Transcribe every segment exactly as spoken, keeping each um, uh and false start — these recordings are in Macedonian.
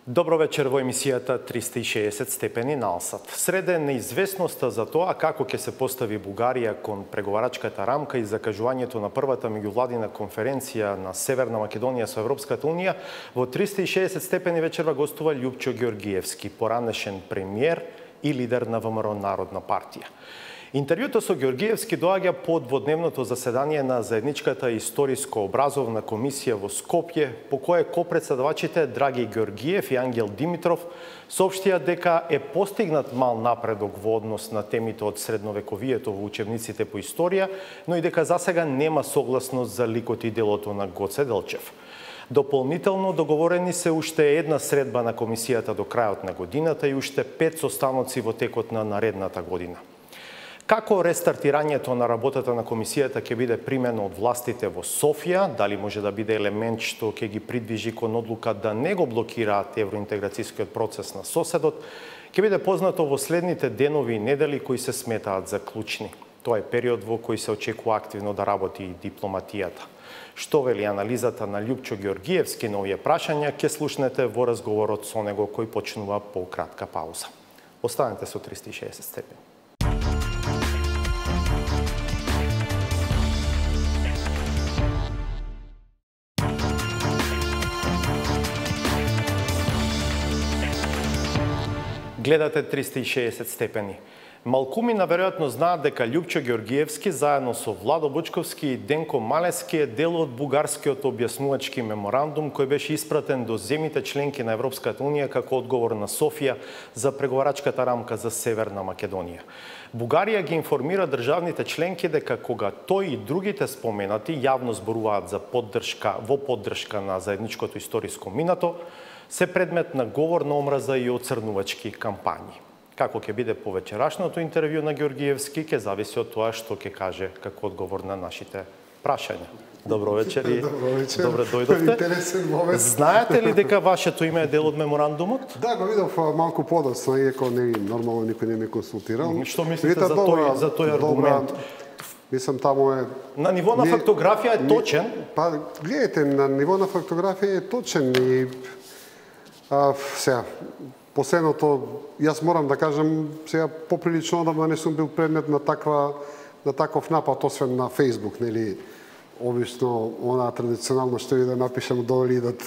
Добро вечер во емисијата триста и шеесет степени на Алсат. Среде неизвестноста за тоа како ќе се постави Бугарија кон преговарачката рамка и закажувањето на првата меѓувладина конференција на Северна Македонија со Европската унија, во триста и шеесет степени вечерва гостува Љупчо Ѓоргиевски, поранешен премиер и лидер на ВМРО Народна партија. Интервјуто со Ѓоргиевски доаѓа по дводневното заседание на заедничката историско-образовна комисија во Скопје, по кое копредседавачите Драги Ѓоргиев и Ангел Димитров соопштија дека е постигнат мал напредок во однос на темите од средновековието во учебниците по историја, но и дека засега нема согласност за ликот и делото на Гоце Делчев. Дополнително договорени се уште една средба на комисијата до крајот на годината и уште пет состаноци во текот на наредната година. Како рестартирањето на работата на комисијата ќе биде примено од властите во Софија, дали може да биде елемент што ќе ги придвижи кон одлука да не го блокираат евроинтеграцијскиот процес на соседот, ќе биде познато во следните денови и недели кои се сметаат за клучни. Тоа е период во кој се очекува активно да работи и дипломатијата. Што вели анализата на Љупчо Ѓоргиевски на овие прашања, ќе слушнете во разговорот со него кој почнува по кратка пауза. Останете со триста и шеесет степени. Гледате триста и шеесет степени. Малкумина веројатно знаат дека Љупчо Ѓоргиевски заедно со Владо Бучковски и Денко Малески е дел од бугарскиот објаснувачки меморандум кој беше испратен до земјите членки на Европската унија како одговор на Софија за преговарачката рамка за Северна Македонија. Бугарија ги информира државните членки дека кога тој и другите споменати јавно зборуваат за поддршка во поддршка на заедничкото историско минато, се предмет на говор на омраза и оцрнувачки кампањи. Како ќе биде по вечерашното интервју на Ѓоргиевски, ќе зависи од тоа што ќе каже како одговор на нашите прашања. Добро вечер и Добро вечер. Добре дојдовте. Интересен момент. Знаете ли дека вашето име е дел од меморандумот? Да, го видов малку подоцна, иако не нормално никој не ме консултирал. Што мислите за тој за тој аргумент? Мислам, таму е... На ниво на не, фактографија е точен? Не, па, гледайте, на ниво на фактографија е точен и... А, сега, последното, јас морам да кажам, сега поприлично одамна не сум бил предмет на таква на таков напад, освен на Фејсбук, нели, обично, она традиционално што и да напишам, долу идат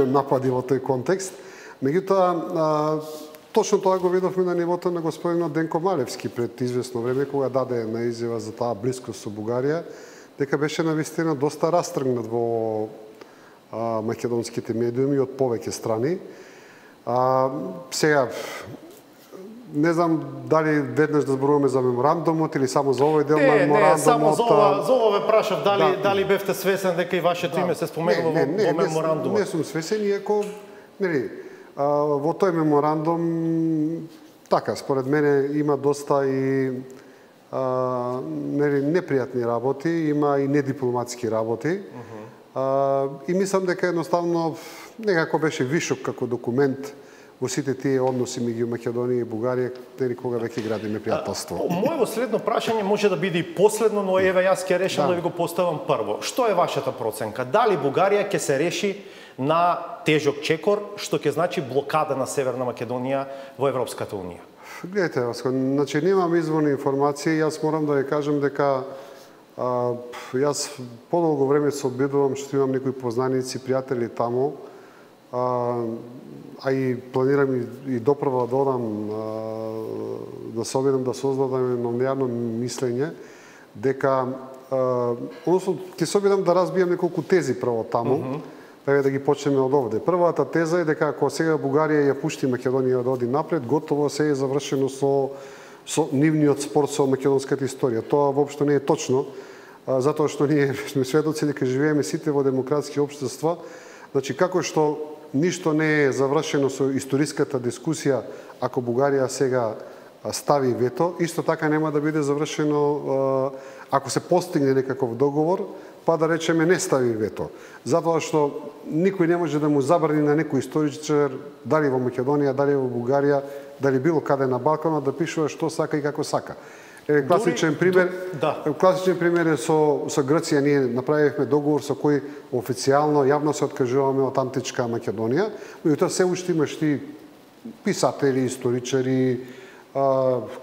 напади во тој контекст. Меѓутоа, точно тоа го видовме на нивото на господинот Денко Малевски пред известно време, кога даде една изјава за таа блискост со Бугарија, дека беше навистина доста растргнат во а, македонските медиуми од повеќе страни. А, сега, не знам дали веднаш да зборуваме за меморандумот или само за овој дел не, на меморандумот. Не, само за ова, за ова ве прашав, дали, да, дали бевте свесен дека и вашето да, име се споменува не, не, во, не, во меморандумот? Не, не сум свесен, иако, нели, а, во тој меморандум, така, според мене има доста и а, нели, непријатни работи, има и недипломатски работи. Uh -huh. а, и мислам дека едноставно некако беше вишок како документ во сите тие односи меѓу Македонија и Бугарија, нели кога веќе градиме пријателство. Моето следно прашање може да биде и последно, но еве јас ќе решам да, да ви го поставам прво. Што е вашата проценка? Дали Бугарија ќе се реши на тежок чекор, што ќе значи блокада на Северна Македонија во Европската унија? Гледайте, значи немам изворни информации, јас морам да ви кажам дека а, јас подолго време се обидувам што имам некои познаници, пријатели таму, а, а и планирам и, и допрва да одам а, да се обидам да создадам едно јавно мислење дека а, односно ќе се обидам да разбијам неколку тези прво таму. Mm -hmm. Еве да ги почнеме од овде. Првата теза е дека ако сега Бугарија ја пушти Македонија да оди напред, готово се е завршено со со нивниот спор со македонската историја. Тоа воопшто не е точно, а, затоа што ние сме сведоци дека живееме сите во демократски општества. Значи како што ништо не е завршено со историската дискусија ако Бугарија сега стави вето, исто така нема да биде завршено ако се постигне некаков договор, па да речеме не стави вето. Затоа што никој не може да му забрани на некој историчар, дали во Македонија, дали во Бугарија, дали било каде на Балканот, да пишува што сака и како сака. Е, класичен пример, да. класичен пример е со со Грција. Ние направивме договор со кој официјално јавно се откажуваме од античка Македонија, меѓутоа се уште имаш ти писатели, историчари,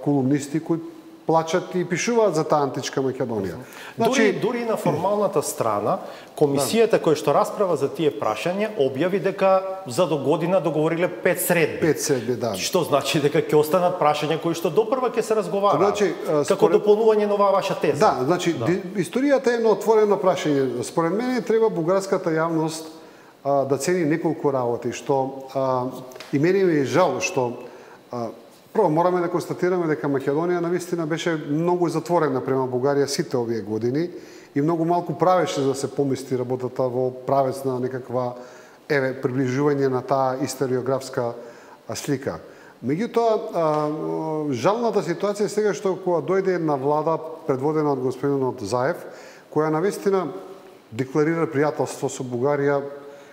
колумнисти кои плачат и пишуваат за таа античка Македонија. Значи, дури, дури на формалната страна, комисијата да. која што расправа за тие прашања објави дека за до година договориле пет средби. Пет средби, да. Што значи дека ќе останат прашања кои што допрва ќе се разговараат. Значи, како според... дополнување на оваа ваша теза. Да, значи да. Историјата е едно отворено прашање. Според мене треба бугарската јавност а, да цени неколку работи, што а, и мене ми е жал што а, прво, мораме да констатираме дека Македонија навистина беше многу затворена према Бугарија сите овие години и многу малку правеше за да се помести работата во правец на некаква еве приближување на таа историографска слика. Меѓутоа, жалната ситуација е сега што кога дојде една влада предводена од господинот Заев, која навистина декларира пријателство со Бугарија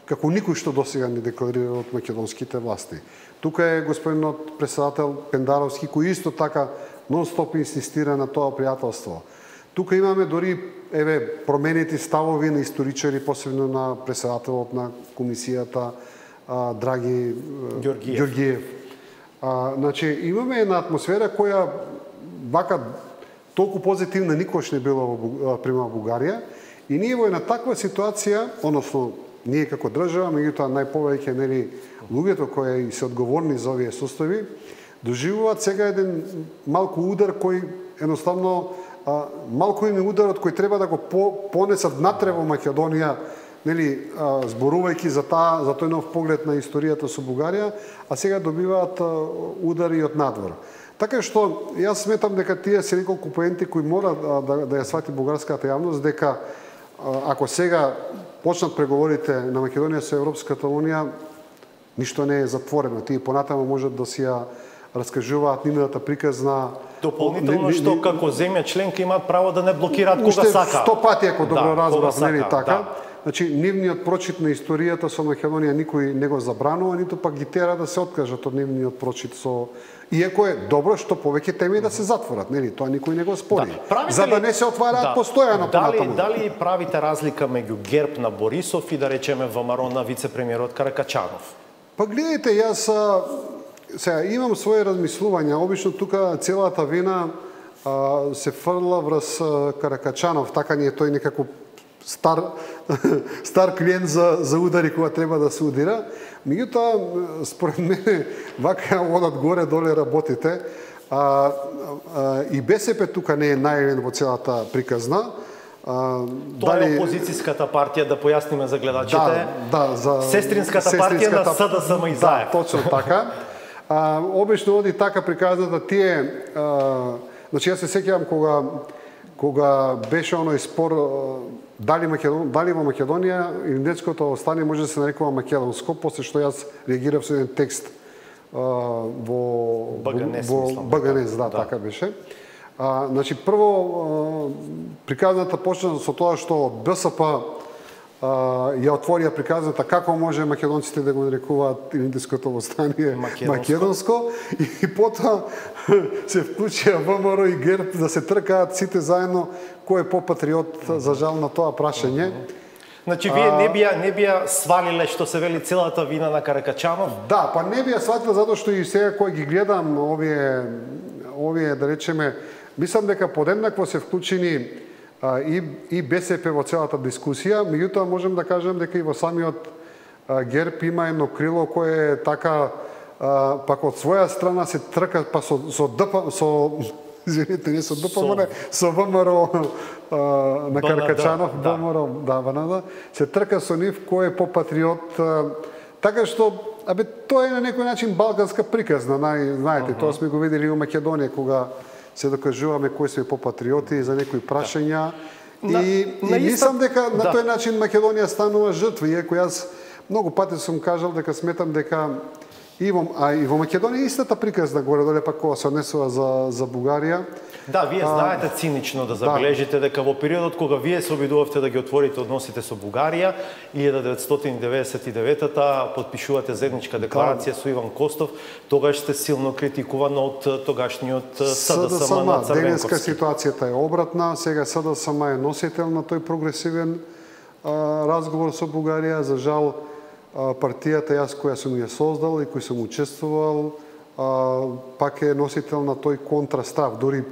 како никој што досега не декларира од македонските власти. Тука е господинот председател Пендаровски, кој исто така нон-стоп инсистира на тоа пријателство. Тука имаме дори еве променети ставови на историчари, посебно на председателот на комисијата а, Драги Ѓорѓиев. Ѓорѓиев. А, значи имаме една атмосфера која вака толку позитивна никош не била во према Бугарија и ние во една таква ситуација, односно ние како држава, меѓутоа најповеќе нели луѓето кои се одговорни за овие состојби, доживуваат сега еден малку удар кој едноставно а, малку им е ударот кој треба да го по, понесат натре во Македонија, нели а, зборувајќи за таа за тој нов поглед на историјата со Бугарија, а сега добиваат а, удари од надвор. Така што јас сметам дека тие се неколку поенти кои мора да, да, да ја свати бугарската јавност, дека а, ако сега почнат преговорите на Македонија со Европската унија, ништо не е затворено. Тие понатаму можат да си ја раскажуваат нивната приказна. Дополнително што како земја членка имаат право да не блокираат кога сака. Сто пати ако добро да, разбрав, нели така? Да. Значи нивниот прочит на историјата со Македонија никој не го забранува, ниту пак ги тера да се откажат од нивниот прочит со иако е добро што повеќе теми да се затворат, нели? Тоа никој не го спори. Да. За да не се отвараат да. постојано понатаму. Дали дали правите разлика меѓу ГЕРБ на Борисов и да речеме ВМРО на вице-премиерот Каракачанов? Па гледайте, јас сега имам своје размислувања. Обично тука целата вина а, се фрла врз Каракачанов, така ни е тој некако стар стар клиент за за удари кога треба да се удира. Меѓутоа според мене вака одат горе доле работите. А, а, и БСП тука не е најавен во целата приказна. А, Тоа дали... е опозицијската партија, да појасниме за гледачите. Да, да, за сестринската, сестринската партија на СДСМ и Заев. Да, точно така. А, обично оди така приказната тие, а, значи јас се сеќавам кога кога беше оној спор дали Македон, дали во Македонија индетското остане може да се нарекува македонско, после што јас реагирав со еден текст а, во БГНЕС, во мислам, БГНЕС, да, да, така беше. А, значи прво а, приказната почна со тоа што од БСП ја отворија приказната како може македонците да го нарекуваат индиското востание македонско, македонско и потоа се вклучија ВМРО и ГЕРБ да се тркаат сите заедно кој е попатриот за жал на тоа прашање. Значи вие не бија не бија свалиле што се вели целата вина на Каракачанов? Да, па не бија свалиле затоа што и сега кој ги гледам овие овие да речеме, мислам дека подеднакво се вклучени и, и БСП во целата дискусија, меѓутоа можем да кажем дека и во самиот ГЕРБ има едно крило кое е така а, пак од своја страна се трка па со со ДП со извинете, не со ДП, со, со ВМРО а, на Каракачанов, да. ВМРО, да, БНД, се трка со нив кој е попатриот, а, така што абе тоа е на некој начин балканска приказна, знаете, uh -huh. тоа сме го видели во Македонија кога се докажуваме кои сме попатриоти за некои прашања. Да. И, на, и мислам дека да. на тој начин Македонија станува жртва, иако јас многу пати сум кажал дека сметам дека И во, а и во Македонија истата приказна горе-доле пак кога се однесува за за Бугарија. Да, вие знаете цинично да забележите дека во периодот кога вие се обидувавте да ги отворите односите со Бугарија, илјада деветстотини деветдесет и девета подпишувате заедничка декларација со Иван Костов, тогаш сте силно критикуван од тогашниот СДСМ на Црвенковски. Денеска ситуацијата е обратна, сега СДСМ е носител на тој прогресивен а, разговор со Бугарија. За жал, партијата јас која сум ја создал и кој сум учествувал, а, пак е носител на тој контрастав. Дори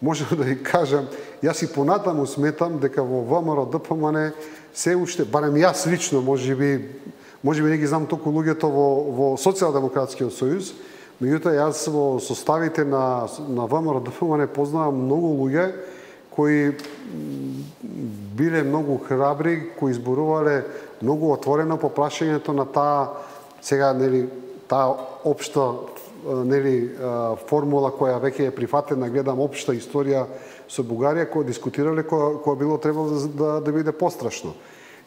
можам да ви кажам, јас и понатаму сметам дека во ВМРО ДПМН се уште, барем јас лично, можеби, можеби не ги знам толку луѓето во, во Социјалдемократскиот сојуз, меѓутоа јас во составите на, на ВМРО ДПМН познавам многу луѓе кои биле многу храбри, кои изборувале многу отворено по прашањето на таа сега нели таа општа нели формула која веќе е прифатена, гледам општа историја со Бугарија, која дискутирале која, која било требало да, да, да биде пострашно.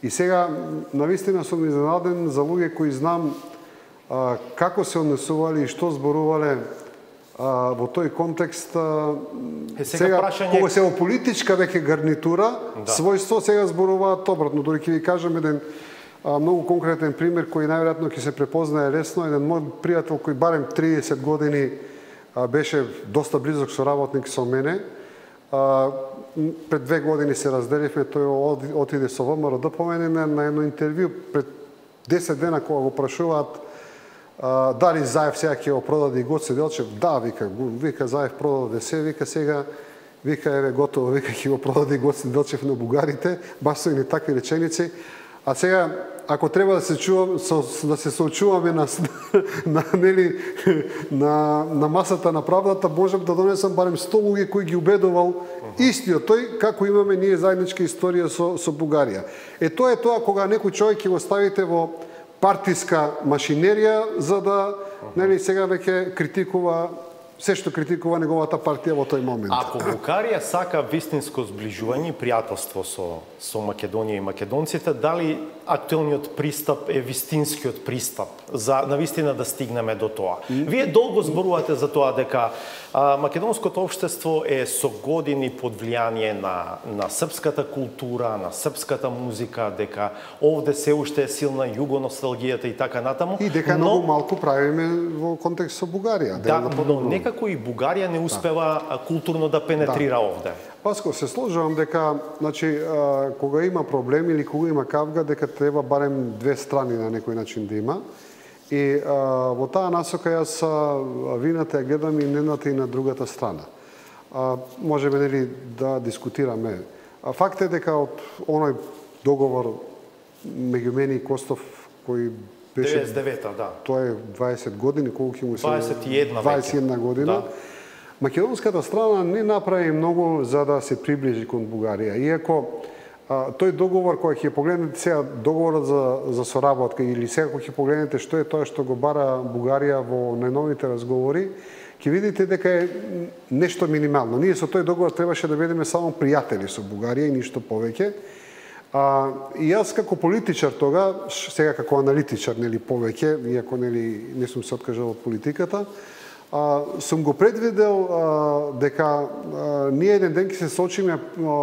И сега навистина сум изненаден за луѓе кои знам а, како се однесувале и што зборувале а, во тој контекст. А, е, сега, сега прашање... кога се во политичка веќе гарнитура, да. Својство сега зборуваат обратно. Дори ќе ви кажам еден а, многу конкретен пример кој најверојатно ќе се препознае лесно. Еден мој пријател кој барем триесет години а, беше доста близок соработник со мене. А, пред две години се разделивме, тој отиде со ВМРО ДПМН на, на едно интервју пред десет дена кога го прашуваат а, дали Заев сега ќе го продаде и Гоце Делчев. Да, вика, вика Заев продаде се, вика сега, вика еве готово, вика ќе го продаде и Гоце Делчев на бугарите, баш со и такви реченици. А сега, ако треба да се чувам, со, да се соочуваме на, на, нели, на, на масата на правдата, можам да донесам барем сто луѓе кои ги убедувал истиот тој, како имаме ние заедничка историја со, со Бугарија. Е, тоа е тоа кога некој човек ќе го ставите во партиска машинерија, за да, нели, сега веќе критикува се што критикува неговата партија во тој момент. Ако Бугарија сака вистинско зближување и пријателство со, со Македонија и македонците, дали актуелниот пристап е вистинскиот пристап за навистина да стигнеме до тоа? Вие долго зборувате за тоа дека а, македонското општество е со години под влијание на, на српската култура, на српската музика, дека овде се уште е силна југоносталгијата и така натаму. И дека но... многу малку правиме во контекст со Бугарија. Да, но некако и Бугарија не успева да. културно да пенетрира да. овде. Паско, се сложувам дека, значи, а, кога има проблем или кога има кавга, дека треба барем две страни на некој начин да има. И а, во таа насока јас вината ја гледам и едната и на другата страна. А, можеме нели да дискутираме. А, факт е дека од оној договор меѓу мене и Костов кој беше деветдесет и девета, да. Тоа е дваесет години, колку ќе му се дваесет и една, дваесет и една година. Да. Македонската страна не направи многу за да се приближи кон Бугарија. Иако а, тој договор, кој ќе погледнете сега договорот за, за соработка или сега кој ќе погледнете што е тоа што го бара Бугарија во најновите разговори, ќе видите дека е нешто минимално. Ние со тој договор требаше да бидеме само пријатели со Бугарија и ништо повеќе. А, и јас како политичар тога, сега како аналитичар, нели повеќе, иако нели не сум се откажал од политиката, а, сум го предвидел а, дека а, ние еден ден ќе се соочиме а,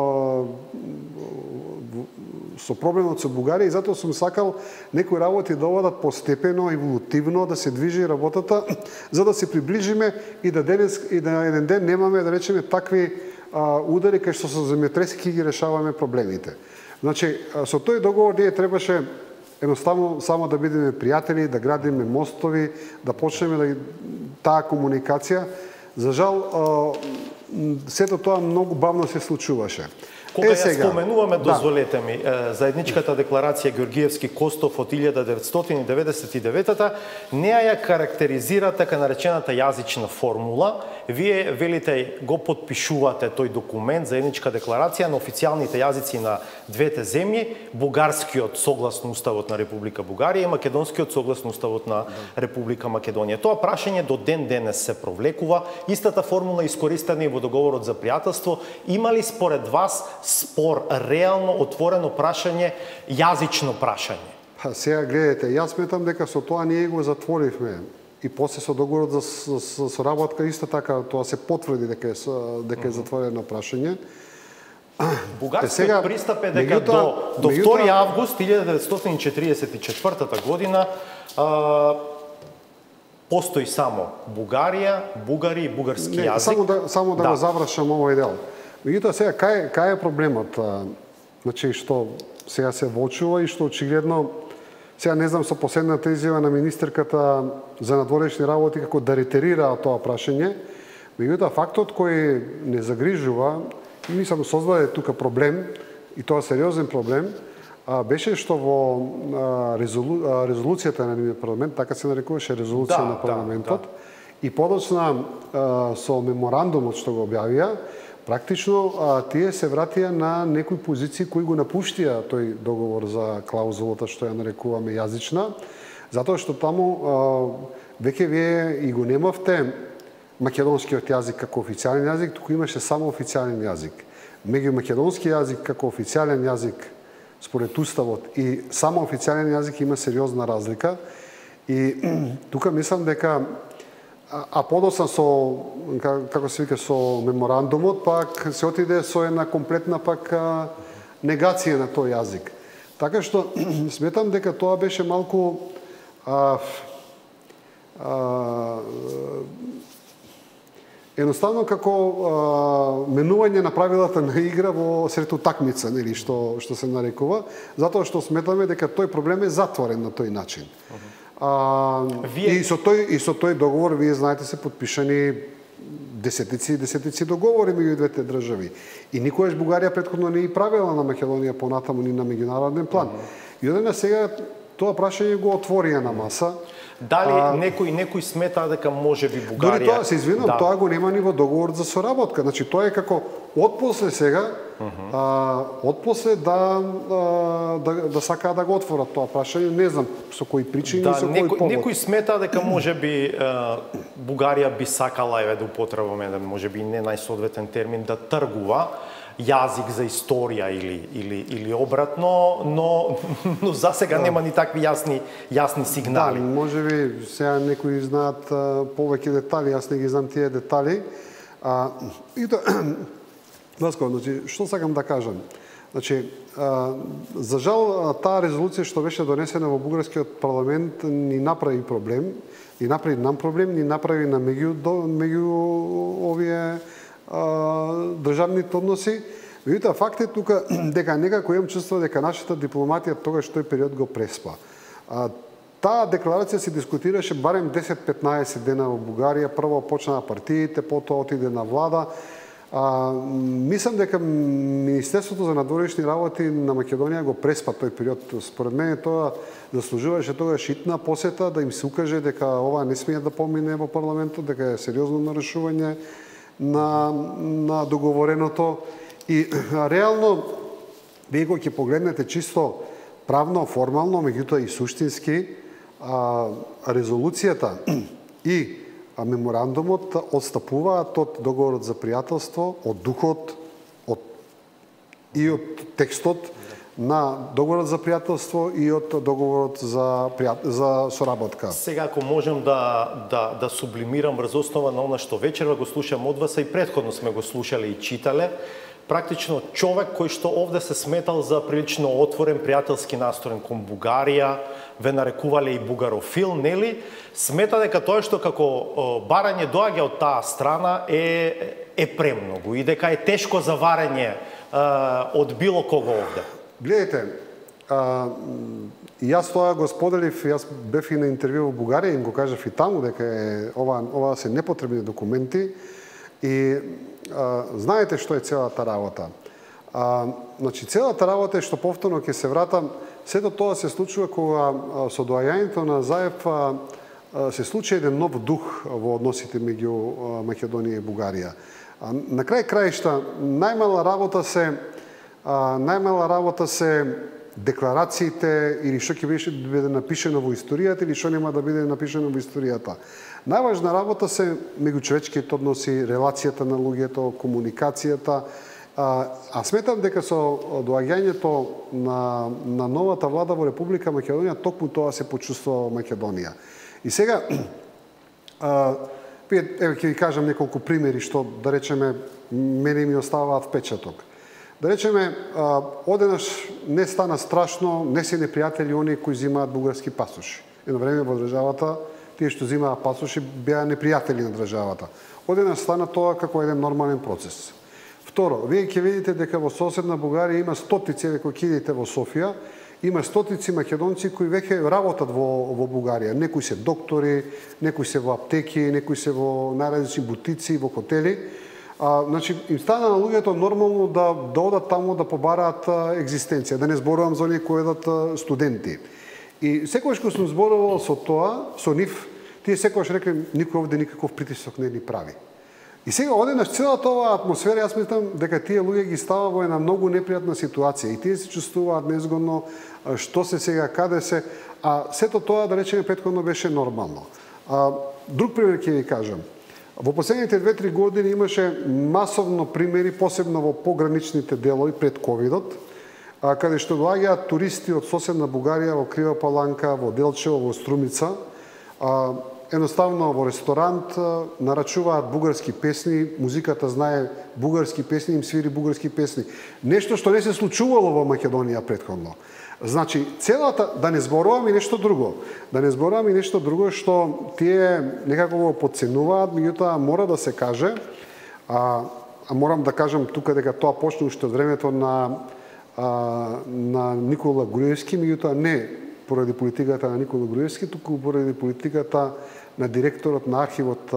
со проблемот со Бугарија и затоа сум сакал некои работи да одат постепено, еволутивно, да се движи работата, за да се приближиме и да денес и да еден ден немаме, да речеме, такви а, удари кај што со земјотреси ги решаваме проблемите. Значи, со тој договор ние требаше едноставно само да бидеме пријатели, да градиме мостови, да почнеме да таа комуникација. За жал, сето тоа многу бавно се случуваше. Кога ја споменуваме, дозволете ми, заедничката декларација Георгиевски-Костов од илјада деветстотини деветдесет и девета, неа ја карактеризира така наречената јазична формула. Вие велите го подпишувате тој документ, заедничка декларација на официјалните јазици на двете земји, бугарскиот согласно Уставот на Република Бугарија и македонскиот согласно Уставот на Република Македонија. Тоа прашање до ден денес се провлекува. Истата формула искористена и во договорот за пријателство. Има ли според вас спор, реално отворено прашање, јазично прашање? Па сега гледате, јас сметам дека со тоа ние го затворивме и после со договорот за, за, за соработка исто така тоа се потврди дека е дека е затворено прашање. Бугарскиот сега, пристап е дека меѓутоа, до, до втори август илјада деветстотини четиридесет и четвртата година а, постои само Бугарија, бугари и бугарски не, јазик. Само да, само да, да. го завршам овој дел. Меѓутоа сега кај, кај е проблемот? Значи што сега се воочува и што очигледно сега не знам со последната изјава на министерката за надворешни работи како да ретерира тоа прашање, меѓутоа фактот кој не загрижува и мислам создаде тука проблем и тоа сериозен проблем, а, беше што во а, резолу, а, резолуцијата на нивниот парламент, така се нарекуваше резолуција да, на парламентот, да, да. И подоцна со меморандумот што го објавија, практично а, тие се вратија на некои позиции кои го напуштија тој договор за клаузулата што ја нарекуваме јазична, затоа што таму а, веќе вие и го немавте македонскиот јазик како официјален јазик, туку имаше само официјален јазик. Меѓу македонски јазик како официјален јазик според уставот и само официјален јазик има сериозна разлика и тука мислам дека а, а подоцна со како се вика со меморандумот пак се отиде со една комплетна пак а, негација на тој јазик. Така што сметам дека тоа беше малку а, а, едноставно како а, менување на правилата на игра во сред утакмица, нели што што се нарекува, затоа што сметаме дека тој проблем е затворен на тој начин. А, вие... И со тој и со тој договор вие знаете се потпишани десетици и десетици договори меѓу двете држави. И никогаш Бугарија претходно не и правила на Македонија понатаму ни на меѓународен план. И одена сега тоа прашање го отворија на маса. Дали а, некој некој смета дека може би Бугарија... Дори тоа, се извинам, да. Тоа го нема ни во договор за соработка. Значи, тоа е како отпосле сега, uh -huh. а, отпосле да, а, да, да сакаа да го отворат тоа прашање. Не знам со кои причини да, и со кој повод. Некој смета дека може би а, Бугарија би сакала, еве да употребаме еден, може би не најсоодветен термин, да тргува јазик за историја или или или обратно, но но засега да. Нема ни такви јасни јасни сигнали. Да, можеби сега некои знаат а, повеќе детали, јас не ги знам тие детали. А и тоа Васко, значи што сакам да кажам? Значи, а, за жал таа резолуција што беше донесена во бугарскиот парламент ни направи проблем, ни направи нам проблем, ни направи на меѓу меѓу овие државните односи. Меѓутоа факт е тука дека некако имам чувство дека нашата дипломатија тогаш тој период го преспа. А, таа декларација се дискутираше барем десет-петнаесет дена во Бугарија, прво почнаа партиите, потоа отиде на влада. А, мислам дека Министерството за надворешни работи на Македонија го преспа тој период. Според мене тоа заслужуваше тогаш итна посета да им се укаже дека ова не смее да помине во парламентот, дека е сериозно нарушување на, на договореното и реално вие кога ќе погледнете чисто правно, формално, меѓутоа и суштински, а, резолуцијата и а, меморандумот отстапуваат од договорот за пријателство, од духот, од и од текстот на договорот за пријателство и од договорот за пријат... за соработка. Сега ако можам да да да сублимирам врз основа на она што вечерва го слушам од вас, а и претходно сме го слушале и читале, практично човек кој што овде се сметал за прилично отворен, пријателски настроен кон Бугарија, ве нарекувале и бугарофил, нели? Смета дека тоа што како барање доаѓа од таа страна е е премногу и дека е тешко за варење од било кого овде. Гледайте, а, јас тоа го споделив, јас бев и на интервју во Бугарија, им го кажав и таму дека е, ова, ова се непотребни документи и а, знаете што е целата работа. А, значи, целата работа е што повторно ќе се вратам, сето тоа се случува кога а, со доаѓањето на Заев а, а, се случи еден нов дух во односите меѓу а, Македонија и Бугарија. А, на крај краишта, најмала работа се А, најмала работа се декларациите или што ќе биде напишено во историјата или што нема да биде напишено во историјата. Најважна работа се меѓучовечките односи, релацијата на луѓето, комуникацијата А, а сметам дека со доаѓањето на, на новата влада во Република Македонија, токму тоа се почувствува во Македонија. И сега, а, еве ќе ви кажам неколку примери што, да речеме, мене ми оставаат впечаток. Да речеме, а, одеднаш не стана страшно, не се непријатели оние кои земаат бугарски пасоши. Едно време во државата, тие што земаат пасоши беа непријатели на државата. Одеднаш стана тоа како еден нормален процес. Второ, вие ќе видите дека во соседна Бугарија има стотици, ако ќе идете во Софија, има стотици македонци кои веќе работат во, во Бугарија. Некои се доктори, некои се во аптеки, некои се во најразлични бутици, во хотели. А, значи, им стана на луѓето нормално да, да одат таму да побараат екзистенција, да не зборувам за оние кои одат студенти. И секогаш кога сум зборувал со тоа, со нив, тие секогаш рекле, никој овде никаков притисок не ни прави. И сега одеднаш целата оваа атмосфера, јас мислам дека тие луѓе ги става во една многу непријатна ситуација и тие се чувствуваат незгодно, што се сега, каде се, а сето тоа, да речеме, претходно беше нормално. А, друг пример ќе ви кажам. Во последните две-три години имаше масовно примери, посебно во пограничните делови пред ковидот, каде што доаѓаат туристи од соседна Бугарија во Крива Паланка, во Делчево, во Струмица, а, едноставно во ресторант нарачуваат бугарски песни, музиката знае бугарски песни, им свири бугарски песни. Нешто што не се случувало во Македонија претходно. Значи, целата, да не зборувам и нешто друго, да не зборувам и нешто друго што тие некако го подценуваат, меѓутоа мора да се каже, а, а морам да кажам тука дека тоа почна уште од времето на, а, на Никола Груевски, меѓутоа не поради политиката на Никола Груевски, туку поради политиката на директорот на архивот,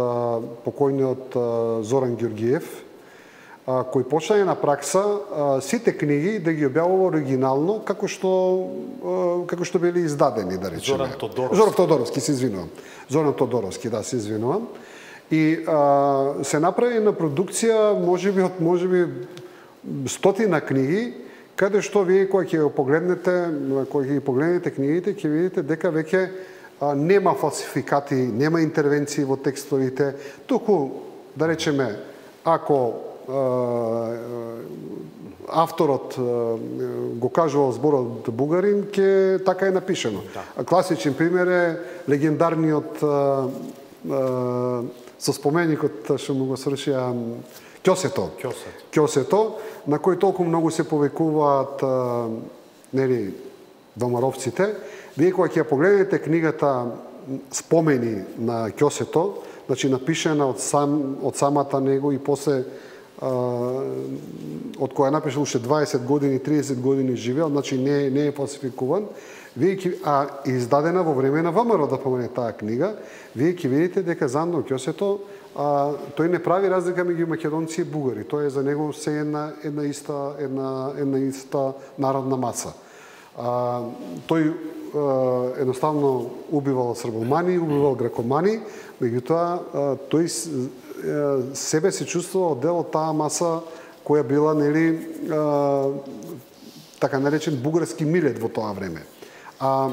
покојниот Зоран Ѓорѓиев, кој почна на пракса сите книги да ги објавува оригинално како што како што били издадени, да речеме. Зоран Тодоровски. Зоран Тодоровски, се извинувам. Зоран Тодоровски, да, се извинувам. И а, се направи на продукција можеби од можеби стотина книги, каде што вие кога ќе го погледнете, кога ќе ги погледнете книгите, ќе видите дека веќе нема фалсификати, нема интервенции во текстовите, туку, да речеме, ако авторот го кажувал зборот бугарин, ќе така е напишено. Да. Класичен пример е легендарниот со споменикот што му го свршија Ќосето. Ќосето. Ќосето, на кој толку многу се повекуваат нели домаровците. Вие кога ќе погледнете книгата Спомени на Ќосето, значи напишена од сам од самата него и после од која напишал уште дваесет години, триесет години живеел, значи не не е фалсификуван. Вие ќе, а издадена во време на ВМРО, да помене таа книга, вие ќе видите дека Зандо Ќосето а, тој не прави разлика меѓу македонци и бугари. Тоа е за него се една една иста една една иста народна маса. А, тој а, едноставно убивал србомани, убивал грекомани, меѓутоа тој себе се чувствувал дел од таа маса која била нели а, така наречен бугарски милет во тоа време. А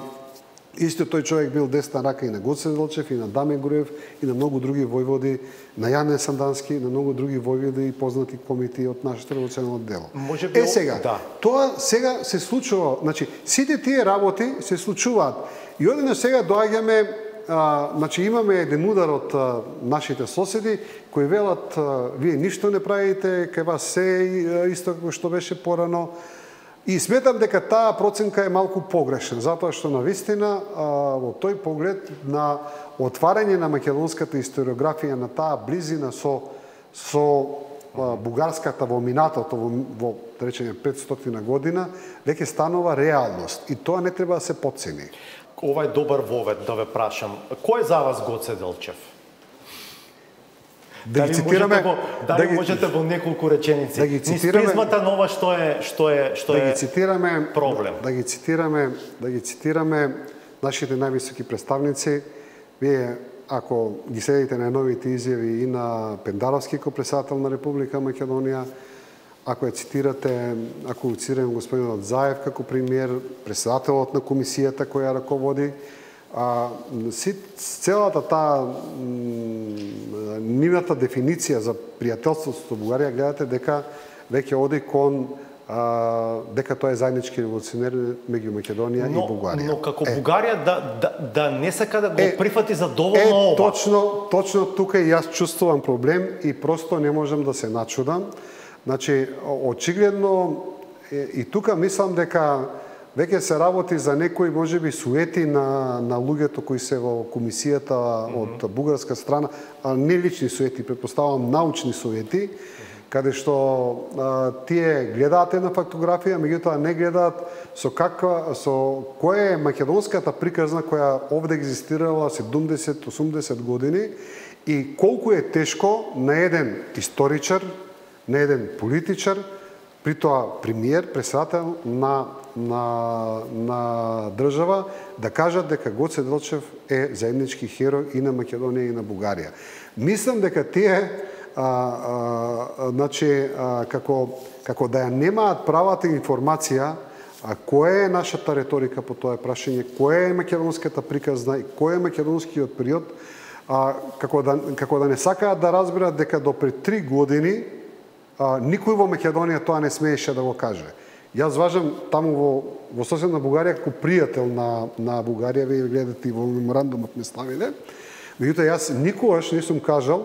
исто тој човек бил десна рака и на Гоце Делчев, и на Даме Груев, и на многу други војводи, на Јане Сандански, и на многу други војводи и познати комити од нашето револуционално дело. Може би, е сега, да. Тоа сега се случува, значи сите тие работи се случуваат. И одеднаш сега доаѓаме, а, значи имаме еден удар од а, нашите соседи кои велат а, вие ништо не правите, кај вас се исто како што беше порано. И сметам дека таа проценка е малку погрешна, затоа што навистина во тој поглед на отварање на македонската историографија на таа близина со со бугарската во минатото во, во да речеме петстотина година веќе станува реалност и тоа не треба да се потцени. Ова е добар вовед да ве прашам. Кој е за вас Гоце Делчев? Да ги цитираме, дали да ги, можете во неколку реченици. Да ги цитираме. Низ призмата нова што е што е што да е ги цитираме, проблем. Да, да ги цитираме, да ги цитираме нашите највисоки представници. Вие ако ги следите на новите изјави и на Пендаровски како председател на Република Македонија, ако ја цитирате, ако цитираме господинот Заев како премиер, председателот на комисијата која раководи, а целата таа нивната дефиниција за пријателството со Бугарија гледате дека веќе оди кон а, дека тоа е заеднички револуционер меѓу Македонија но, и Бугарија. Но како е, Бугарија да, да, да не сака да го е, прифати за доволно е, ова. Точно, точно тука и јас чувствувам проблем и просто не можам да се начудам. Значи, очигледно и тука мислам дека веќе се работи за некои можеби суети на на луѓето кои се во комисијата mm -hmm. од бугарска страна, а не лични суети, претпоставувам научни суети, каде што а, тие гледаат една фактографија, меѓутоа не гледаат со каква со која е македонската приказна која овде екзистирала седумдесет осумдесет години и колку е тешко на еден историчар, на еден политичар, при тоа премиер, председател на на на држава, да кажат дека Гоце Делчев е заеднички херој и на Македонија и на Бугарија. Мислам дека тие а, а, значи, а, како како да ја немаат правата информација, а која е нашата реторика по тоа прашање, која е македонската приказна и кој е македонскиот период, а, како да како да не сакаат да разберат дека до пред три години а, никој во Македонија тоа не смееше да го каже. Јас важам таму во во соседна Бугарија како пријател на на Бугарија, вие гледате и во меморандумот ме ставиле. Меѓутоа јас никогаш не сум кажал,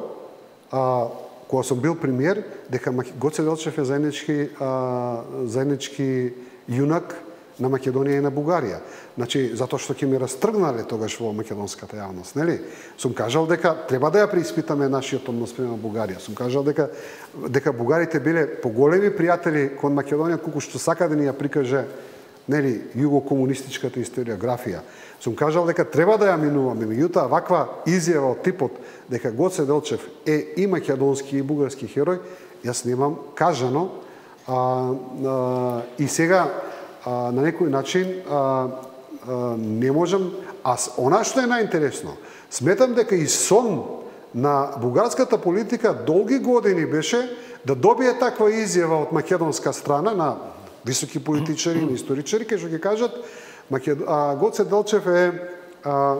а, кога сум бил премиер, дека Гоце Делчев е заеднички а, заеднички јунак на Македонија и на Бугарија. Значи, затоа што ќе ме растргнале тогаш во македонската јавност, нели? Сум кажал дека треба да ја преиспитаме нашиот однос према Бугарија. Сум кажал дека дека бугарите биле поголеми пријатели кон Македонија, колку што сака да ни ја прикаже, нели, југокомунистичката историографија. Сум кажал дека треба да ја минуваме, меѓутоа ваква изјава од типот дека Гоце Делчев е и македонски и бугарски херој, јас немам кажано, а, а, и сега а, на некој начин а, а, не можам, а она што е најинтересно, сметам дека и сон на бугарската политика долги години беше да добие таква изјава од македонска страна на високи политичари и историчари, кај што ќе кажат Макед... а, Гоце Делчев е а,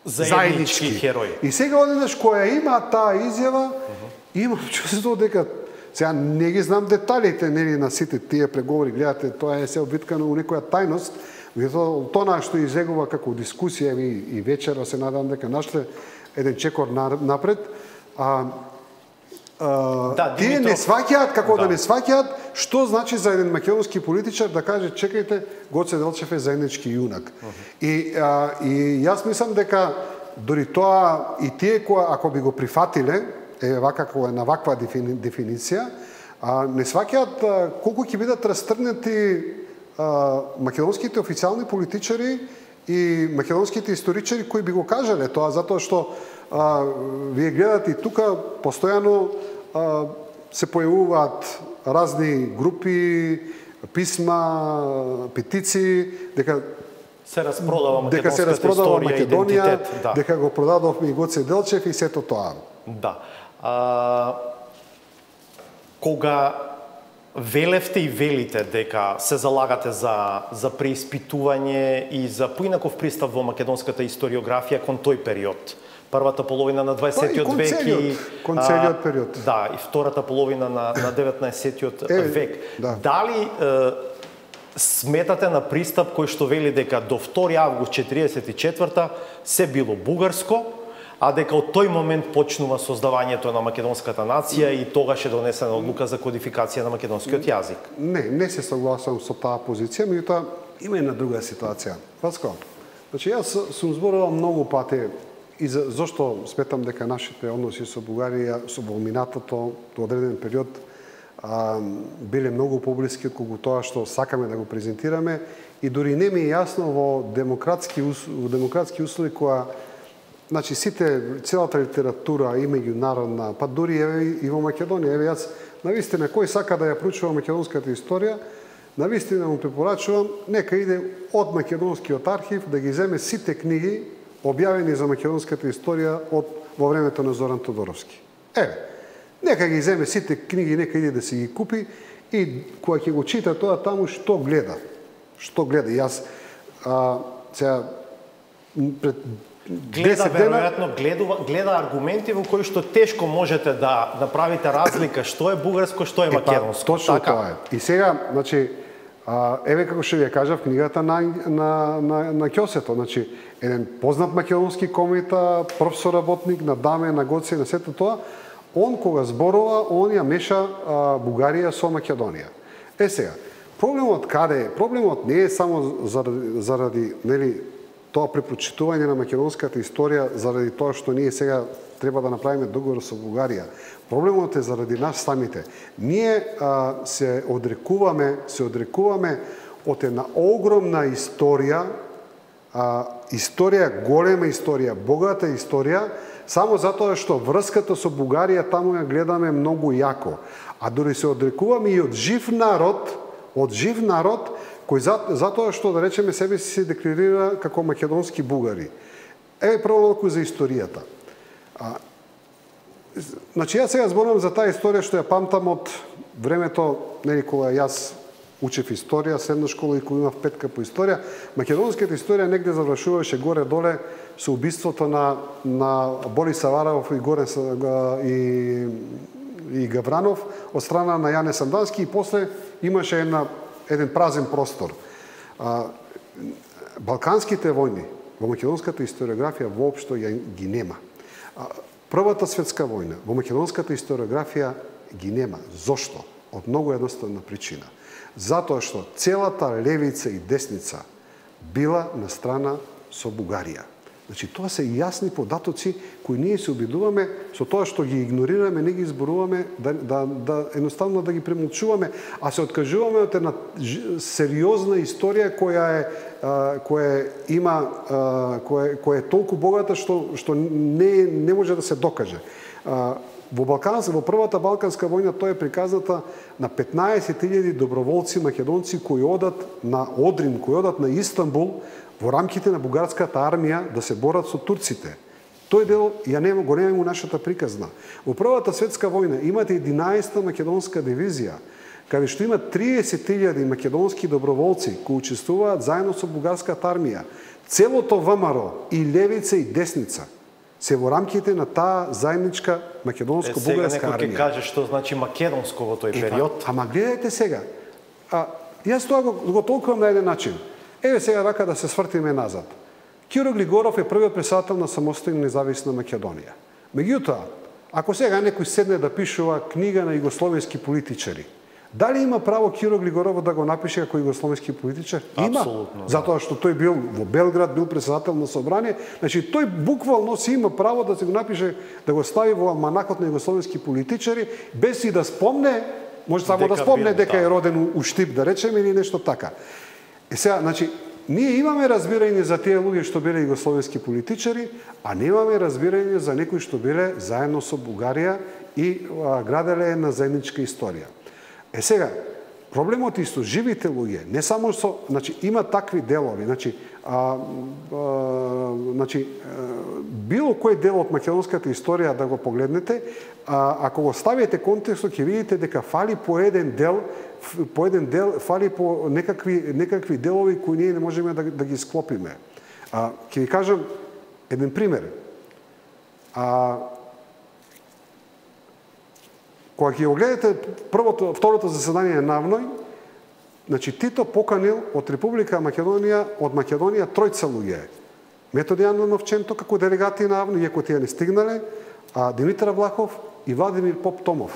заеднички херој. И сега одеднаш која има таа изјава, имам чувство дека сега не ги знам деталите, нели, на сите тие преговори, гледате, тоа е се обвиткано у некоја тајност, меѓутоа тоа што изегува како дискусија и, и вечера се надам дека наште еден чекор напред, а, а, да, тие Димитров... не сваќаат како да. да да не сваќаат што значи за еден македонски политичар да каже чекајте, Гоце Делчев е заеднички јунак. Uh -huh. И а, и јас мислам дека дори тоа и тие кои ако би го прифатиле е вака како е на ваква дефини, дефиниција, а не сваќаат колку ќе бидат растргнати а, македонските официјални политичари и македонските историчари кои би го кажале тоа, затоа што а, вие гледате и тука постојано а, се појавуваат разни групи, писма, петиции, дека се распродава македонската дека се распродава историја, Македонија, идентитет, да. дека го продадовме и Гоце Делчев и сето тоа. Да. А, кога велевте и велите дека се залагате за за преиспитување и за поинаков пристап во македонската историографија кон тој период, првата половина на дваесеттиот век и кон целиот период. Да, и втората половина на на деветнаесеттиот е, век. Да. Дали е, сметате на пристап кој што вели дека до втори август четириесет и четврта се било бугарско, а дека од тој момент почнува создавањето на македонската нација и тогаш е донесена одлука за кодификација на македонскиот јазик? Не, не се согласувам со таа позиција, меѓутоа има една друга ситуација. Паско, значи јас сум зборувал многу пати и за, зошто сметам дека нашите односи со Бугарија со во минатото до одреден период а, биле многу поблиски колку тоа што сакаме да го презентираме и дури не ми е јасно во демократски во демократски услови која значи сите целата литература и меѓународна, па дури еве и во Македонија, еве јас навистина кој сака да ја проучува македонската историја, навистина му препорачувам нека иде од македонскиот архив да ги земе сите книги објавени за македонската историја од во времето на Зоран Тодоровски. Еве, нека ги земе сите книги, нека иде да си ги купи и кога ќе го чита тоа таму што гледа. Што гледа. Јас а, сега пред гледа веројатно гледа, гледа аргументи во кои што тешко можете да направите разлика што е бугарско, што е македонско. Е, па, точно така. Тоа е. И сега, значи, а, еве како што ви ја кажав книгата на на на, на Ќосето, значи еден познат македонски комита, професор работник на Даме, на Гоце, на сето тоа, он кога зборува, он ја меша а, Бугарија со Македонија. Е сега, проблемот каде е? Проблемот не е само заради, заради нели тоа препрочитување на македонската историја, заради тоа што ние сега треба да направиме договор со Бугарија. Проблемот е заради нас самите. Ние а, се одрекуваме, се одрекуваме од една огромна историја, а, историја, голема историја, богата историја, само затоа што врската со Бугарија таму ја гледаме многу јако. А дори се одрекуваме и од жив народ, од жив народ, кој за, затоа што, да речеме, себе си се декларира како македонски бугари. Еве прво малку за историјата. А, значи, јас сега зборувам за таа историја што ја памтам од времето, нели, кога јас учев историја, средна школа и кога имав петка по историја. Македонската историја негде завршуваше горе-доле со убиството на, на Борис Саваравов и Горен и, и Гавранов од страна на Јане Сандански и после имаше една еден празен простор. А, Балканските војни во македонската историографија воопшто ја ги нема. А, Првата светска војна во македонската историографија ги нема. Зошто? Од многу едноставна причина. Затоа што целата левица и десница била на страна со Бугарија. Значи, тоа се јасни податоци кои ние се обидуваме со тоа што ги игнорираме, не ги зборуваме, да, да, да едноставно да ги премолчуваме, а се откажуваме од една сериозна историја која е а, која има а, која, која е толку богата што што не не може да се докаже. А, во Балканска, во првата балканска војна тоа е приказната на петнаесет илјади доброволци македонци кои одат на Одрин, кои одат на Истанбул во рамките на бугарската армија да се борат со турците. Тој дел ја нема, го немаме у нашата приказна. Во Првата светска војна имате единаесета македонска дивизија, каде што има триесет илјади македонски доброволци кои учествуваат заедно со бугарската армија. Целото ВМРО и левица и десница се во рамките на таа заедничка македонско-бугарска армија. Сега некој ќе каже што значи македонско во тој период. Ама гледајте сега. А, јас тоа го, го толкувам на еден начин. Еве сега вака да се свртиме назад. Киро Глигоров е првиот председател на самостојна независна Македонија. Меѓутоа, ако сега некој седне да пишува книга на југословенски политичари, дали има право Киро Глигоров да го напише како југословенски политичар? Има. Апсолутно, затоа што тој бил во Белград, бил председател на собрание, значи тој буквално си има право да се го напише, да го стави во алманакот на југословенски политичари, без и да спомне, може само дека да спомне бил, дека да. Е роден у Штип, да речеме, или нешто така. Е сега, значи, ние имаме разбирање за тие луѓе што биле југословенски политичари, а немаме разбирање за некои што биле заедно со Бугарија и а, граделе на заедничка историја. Е сега, проблемот и со живите луѓе, не само со, значи има такви делови, значи а, а, значи а, било кој дел од македонската историја да го погледнете, а, ако го ставите контекстот ќе видите дека фали по еден дел по еден дел, фали по некакви, некакви делови кои ние не можеме да, да ги склопиме. А, ќе ви кажам еден пример. А, кога ќе го гледате првото, второто заседание на АВНОЙ, значи Тито поканил од Република Македонија, од Македонија тројца луѓе. Методи Андоновченто како делегати на АВНОЙ, иако тие не стигнале, а Димитар Влахов и Владимир Поп Томов.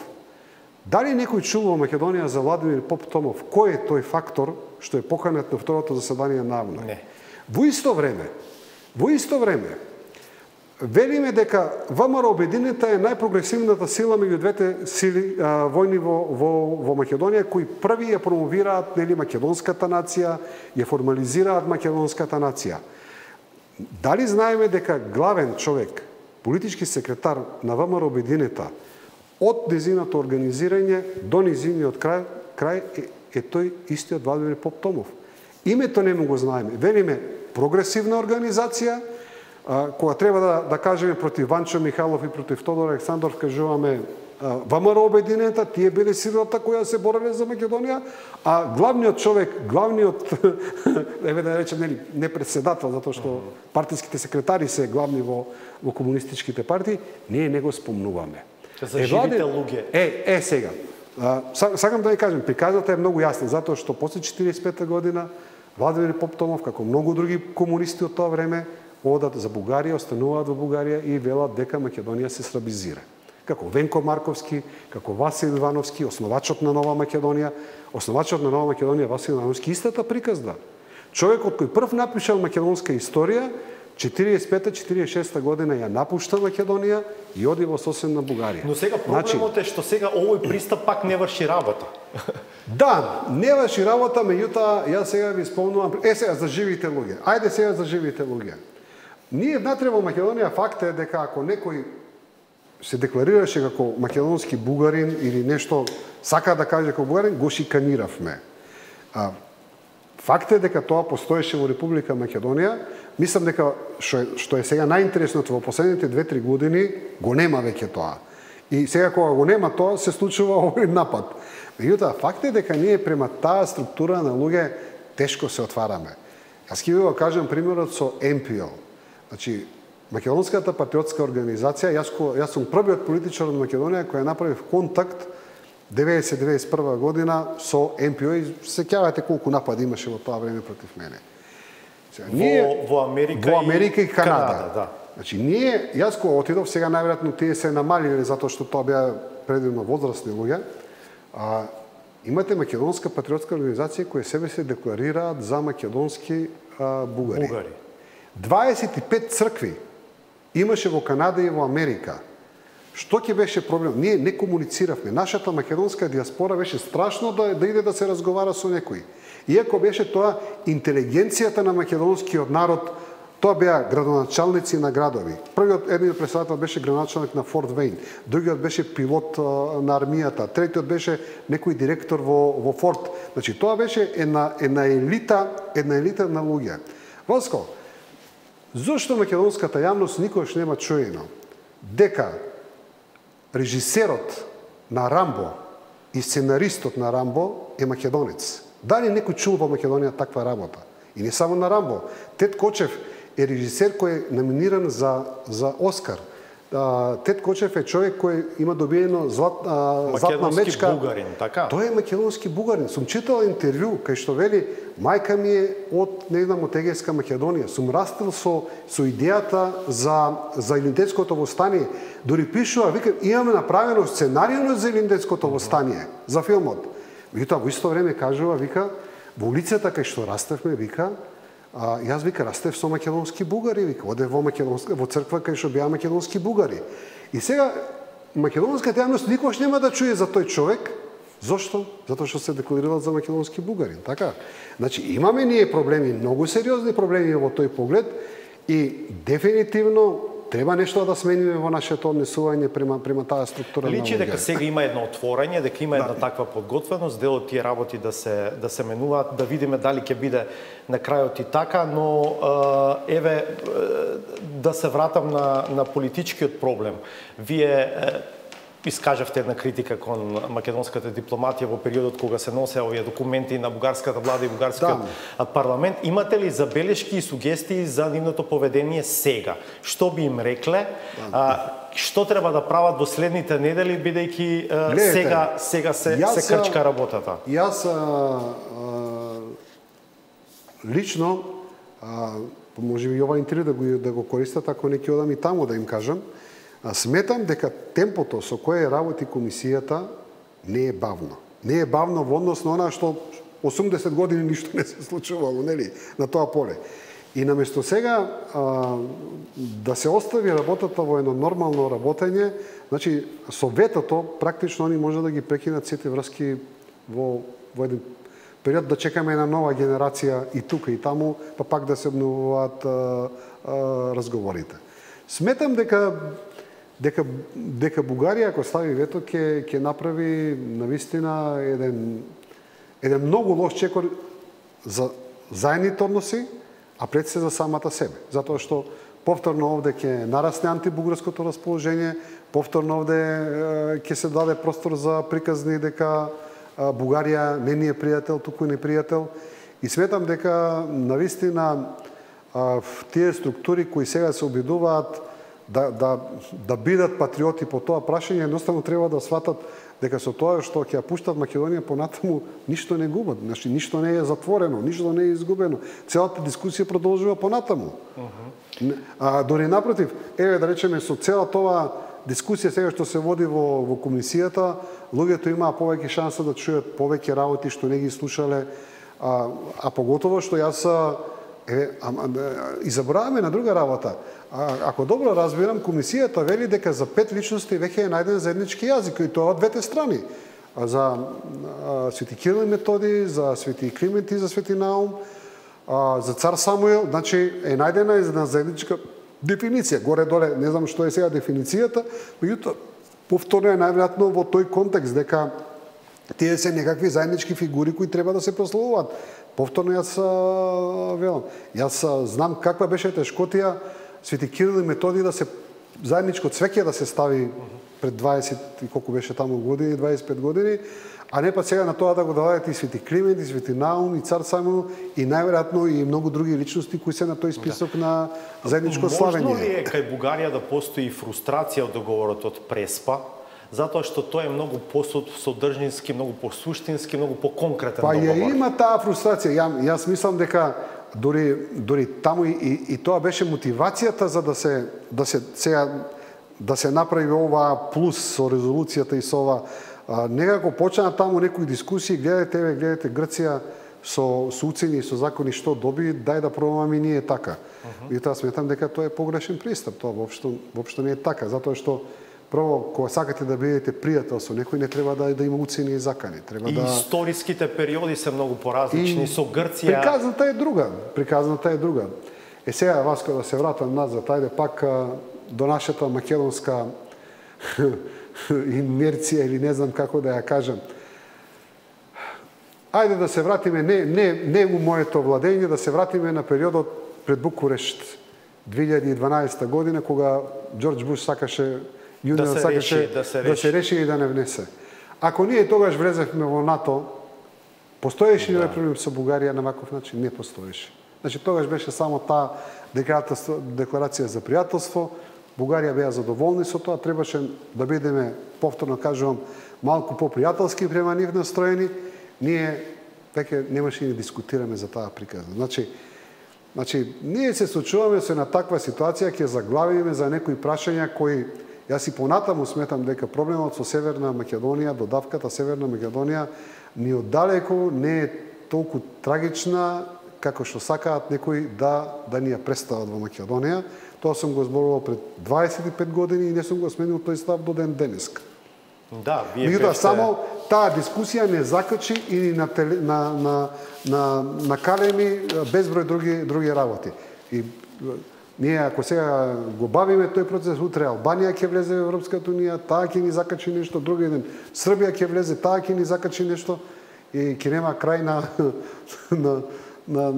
Дали некој чул во Македонија за Владимир Поп Томов? Кој е тој фактор што е поканет на второто заседание на АВНОЙ? Не. Во исто време, во исто време, велиме дека ВМРО Обединета е најпрогресивната сила меѓу двете сили а, војни во, во, во Македонија, кои први ја промовираат нели македонската нација, ја формализираат македонската нација. Дали знаеме дека главен човек, политички секретар на ВМРО Обединета, од низиното организирање до низиниот крај, крај е, е тој истиот Владимир Поп Томов. Името не му го знаеме. Велиме прогресивна организација, а, кога треба да, да кажеме против Ванчо Михайлов и против Тодор Александров, кажуваме ВМРО обединената, тие биле силата која се бореле за Македонија, а главниот човек, главниот, еве да речем, нели, не председател, затоа што партиските секретари се главни во, во комунистичките партии, ние не го спомнуваме. За е, живите луѓе. Е, е, сега. А, сакам да ви кажем, приказата е многу јасна, затоа што после четиридесет и пета година Владимир Поптомов, како многу други комунисти од тоа време, одат за Бугарија, остануваат во Бугарија и велат дека Македонија се срабизира. Како Венко Марковски, како Васил Ивановски, основачот на Нова Македонија, основачот на Нова Македонија Васил Ивановски истата приказна. Човекот кој прв напишал македонска историја, четиридесет и пета четиридесет и шеста година ја напушта Македонија и оди во соседна Бугарија. Но сега проблемот е што сега овој пристап пак не врши работа. Да, не врши работа, меѓутоа јас сега ви спомнувам, е сега за живите луѓе. Ајде сега за живите луѓе. Ние внатре во Македонија факт е дека ако некој се декларираше како македонски бугарин или нешто сака да каже како бугарин, го шиканиравме. А, факт е дека тоа постоеше во Република Македонија. Мислам дека што е, што е сега најинтересното во последните две-три години го нема веќе тоа. И сега кога го нема тоа се случува овој напад. Меѓутоа факт е дека ние према таа структура на луѓе тешко се отвараме. Јас ќе ви го кажам примерот со Ем Пи О. Значи, Македонската патриотска организација, јас, јас сум првиот политичар од Македонија кој направив контакт деветдесет до деветдесет и прва година со Ем Пи О и сеќавате колку напади имаше во тоа време против мене. Сега, ние, во, во Америка, во Америка и, и Канада. Канада да. Значи, ние, јас кога отидов, сега најверојатно тие се намалиле затоа што тоа беа предимно возрастни луѓе. А, имате Македонска патриотска организација која себе се декларираат за македонски а, бугари. бугари. дваесет и пет цркви имаше во Канада и во Америка. Што ќе беше проблем? Ние не комунициравме. Нашата македонска диаспора беше страшно да, да иде да се разговара со некој. Иако беше тоа интелигенцијата на македонскиот народ, тоа беа градоначалници на градови. Првиот едниот председател беше градоначалник на Форт Вейн, другиот беше пилот а, на армијата, третиот беше некој директор во, во Форт. Значи тоа беше една, една елита, една елита на луѓе. Воско, зошто македонската јавност никогаш нема чуено дека режисерот на Рамбо и сценаристот на Рамбо е македонец? Дали некој чул во Македонија таква работа? И не само на Рамбо. Тед Кочев е режисер кој е номиниран за, за Оскар. Тед Кочев е човек кој има добиено злат, а, златна мечка. Македонски бугарин, така? Тој е македонски бугарин. Сум читал интервју кај што вели мајка ми е од, не знам, од Егејска Македонија. Сум растел со, со идејата за, за Илиндетското востание. Дори пишува, вика, имаме направено сценарију за Илиндетското востание, за филмот. Меѓутоа, во исто време кажува, вика, во улицата кај што растевме, вика, а, јас, вика, растев со македонски бугари, вика, оде во, македонска, во црква кај што беа македонски бугари. И сега, македонската јавност никогаш нема да чуе за тој човек. Зошто? Затоа што се декларирал за македонски бугарин, така? Значи, имаме ние проблеми, многу сериозни проблеми во тој поглед и дефинитивно треба нешто да смениме во нашето однесување према, према таа структура. Личи дека сега има едно отворање, дека има една да. таква подготвеност, дел од тие работи да се да се менуваат, да видиме дали ќе биде на крајот и така, но еве да се вратам на на политичкиот проблем. Вие искажавте една критика кон македонската дипломатија во периодот кога се носе овие документи на бугарската влада и бугарскиот да. парламент. Имате ли забелешки и сугестии за нивното поведение сега? Што би им рекле? Да. А, што треба да прават во следните недели, бидејќи сега сега се јас, се крчка работата? Јас а, а, лично а, може би ова интервју да го да го користат ако не ќе одам и таму да им кажам. Сметам дека темпото со кое работи комисијата не е бавно. Не е бавно во однос на она што осумдесет години ништо не се случувало, нели, на тоа поле. И наместо сега а, да се остави работата во едно нормално работење, значи со ветото практично они може да ги прекинат сите врски во во еден период, да чекаме една нова генерација и тука и таму, па пак да се обновуваат а, а, разговорите. Сметам дека дека дека Бугарија ако стави вето ќе ќе направи навистина еден еден многу лош чекор за заедните односи, а пред се за самата себе. Затоа што повторно овде ќе нарасне антибугарското расположение, повторно овде ќе се даде простор за приказни дека Бугарија не ни е пријател, туку непријател. И сметам дека навистина тие структури кои сега се обидуваат да, да, да бидат патриоти по тоа прашање, едноставно треба да сватат дека со тоа што ќе ја пуштат Македонија понатаму, ништо не губат. Значи, ништо не е затворено, ништо не е изгубено. Целата дискусија продолжува понатаму. Uh -huh. А дори напротив, еве да речеме со цела тоа дискусија сега што се води во, во комисијата, луѓето имаа повеќе шанса да чујат повеќе работи што не ги слушале, а, а поготово што јас е, а, а, и забораваме на друга работа. А, ако добро разбирам, комисијата вели дека за пет личности веќе е најден заеднички јазик, и тоа од двете страни. А за а, Свети Кирил и Методи, за Свети Климент и за Свети Наум, а, за цар Самуил, значи е најдена една заедничка дефиниција. Горе-доле, не знам што е сега дефиницијата, меѓутоа повторно е најверојатно во тој контекст дека тие се некакви заеднички фигури кои треба да се прославуваат. Повторно јас велам, јас знам каква беше тешкотија Свети Кирил и Методи да се заедничко цвеќе да се стави пред дваесет и колку беше таму години, дваесет и пет години, а не па сега на тоа да го дадат и Свети Климент, и Свети Наум, и цар Самуил, и најверојатно и многу други личности кои се на тој список да. на заедничко славење. Можно ли е кај Бугарија да постои фрустрација од договорот од Преспа, затоа што тој е многу посодржински, многу посуштински, многу поконкретен па договор? Па ја има таа фрустрација. Ја, јас мислам дека дори дори таму и, и, и тоа беше мотивацијата за да се да се сега да се направи ова плюс со резолуцијата и со ова. А, некако почна таму некои дискусии, гледате, еве, гледате Грција со, со уцени и со закони што доби, дај да пробаме и ние така. Uh -huh. И тоа сметам дека тоа е погрешен пристап, тоа воопшто воопшто не е така, затоа што прво кога сакате да бидете пријател со некој, не треба да да има уцени и закани, треба и да историските периоди се многу поразлични. И со Грција приказната е друга, приказната е друга. Е сега Васко да се вратам назад, ајде пак до нашата македонска инерција или не знам како да ја кажам. Ајде да се вратиме, не, не, не у моето владење, да се вратиме на периодот пред Букурешт, две илјади и дванаесета година, кога Џорџ Буш сакаше, Јуниор да сакаше реши, да, се да се реши и да не внесе. Ако ние тогаш влезевме во НАТО, постоеше ли да. проблем со Бугарија на ваков начин? Не постоеше. Значи, тогаш беше само таа декларација за пријателство, Бугарија беа задоволни со тоа, требаше да бидеме, повторно кажувам, малку попријателски према нив настроени, ние веќе немаше да дискутираме за таа приказна. Значи, значи ние се случуваме со на таква ситуација, ќе заглавиме за некои прашања кои, јас и понатаму сметам дека проблемот со Северна Македонија, додавката Северна Македонија, ни оддалеку не е толку трагична како што сакаат некои да да ни ја представат во Македонија. Тоа сум го зборувал пред дваесет и пет години и не сум го сменил тој став до ден денеска. Да, вие Меѓутоа, беште... само таа дискусија не закачи и на, теле, на, на, на, на калеми безброј други, други работи. И ние, ако сега го бавиме тој процес, утре Албанија ќе влезе во Европската унија, таа ќе ни закачи нешто, други ден Србија ќе влезе, таа ќе ни закачи нешто и ќе нема крај на... на, на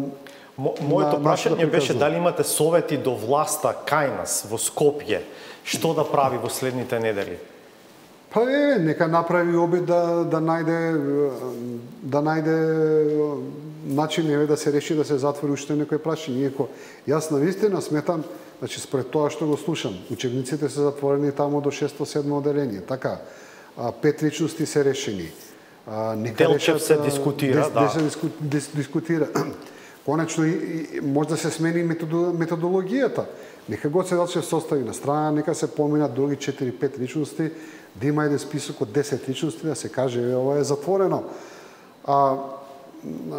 Мо, моето прашање беше дали имате совети до власта кај нас во Скопје, што да прави во следните недели? Па е, нека направи обид да да најде да најде начин еве да се реши да се затвори уште некој прашање. Иако јас навистина сметам, значи според тоа што го слушам, учебниците се затворени таму до шесто седмо оделение, така. А, пет личности се решени. А, нека Делчев се дискутира, дес, да. Дес се диску, дис, дискутира. Конечно, и, и, може да се смени методологијата. Нека го се Делчев состави на страна, нека се поминат други четири-пет личности, да има еден список од десет личности, да се каже, е, ова е затворено. А,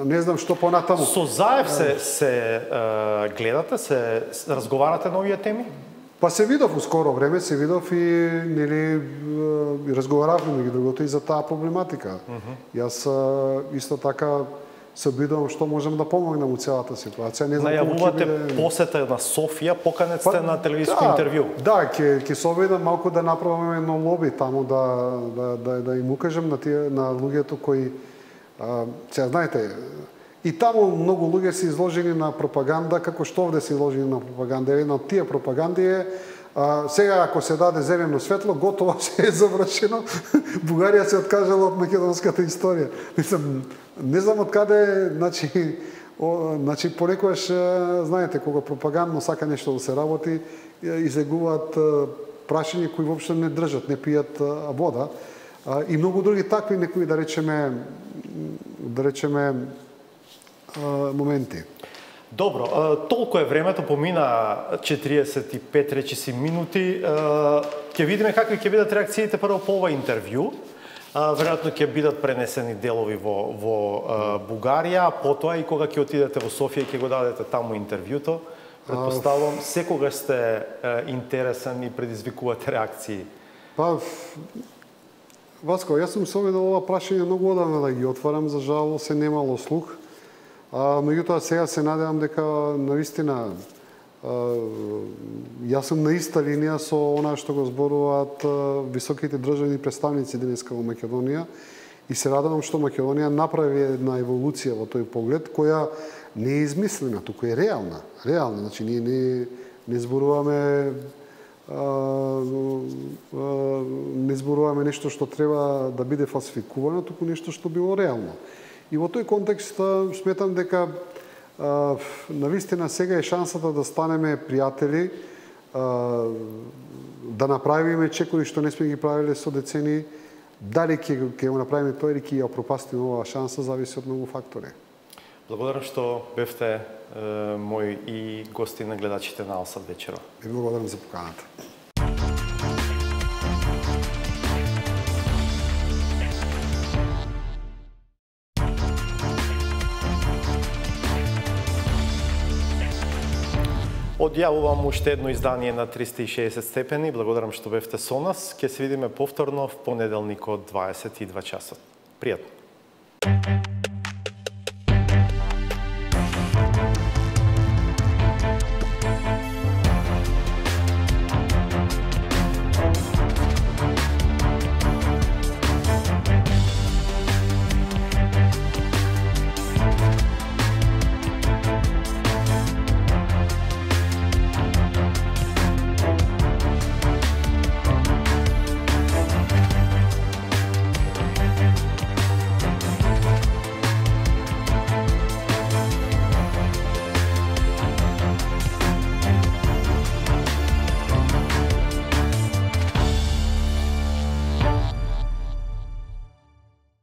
не знам што понатаму. Со Заев се, се е, гледате, се разговарате на овие теми? Па се видов у скоро време, се видов и нели разговаравме меѓу другото и за таа проблематика. Uh -huh. Јас исто така се обидувам што можам да помогнам у целата ситуација. Не знам најавувате биде... посета на Софија, поканет сте па, на телевизиско да, интервју. Да, ќе ќе се обидам малку да направиме едно лоби таму да да да, да им укажам на тие на луѓето кои а, сега знаете, И таму многу луѓе се изложени на пропаганда, како што овде се изложени на пропаганда. Една од тие пропаганди е а, сега ако се даде зелено светло, готово се е завршено. Бугарија се откажала од македонската историја. Мислам, не знам од каде, значи, о, значи понекогаш знаете кога пропагандно сака нешто да се работи, излегуваат прашања кои воопшто не држат, не пијат вода. И многу други такви некои, да речеме, да речеме моменти. Добро, толку е времето, помина четириесет и пет речиси минути. Ќе видиме какви ќе бидат реакциите прво по ова интервју. Веројатно ќе бидат пренесени делови во, во Бугарија, потоа и кога ќе отидете во Софија и ќе го дадете таму интервјуто. Предпоставувам, секогаш сте интересен и предизвикувате реакции. Па, Васко, јас сум се обидел ова прашање многу одамна да ги отварам, за жал се немало слух. А, меѓутоа сега се надевам дека навистина јас сум на иста линија со она што го зборуваат високите државни представници денеска во Македонија и се радувам што Македонија направи една еволуција во тој поглед која не е измислена, туку е реална. Реална, значи ние не, не зборуваме не зборуваме нешто што треба да биде фалсификувано, туку нешто што било реално. И во тој контекст сметам дека навистина сега е шансата да станеме пријатели, да направиме чекори што не сме ги правиле со децени. Дали ќе ќе го направиме тоа или ќе ја пропастиме оваа шанса зависи од многу фактори. Благодарам што бевте е, мој и гости на гледачите на Алсат вечерва. И благодарам за поканата. Одјавувам уште едно издание на триста и шеесет степени. Благодарам што бевте со нас. Ќе се видиме повторно в понеделник од дваесет и два часот. Пријатно.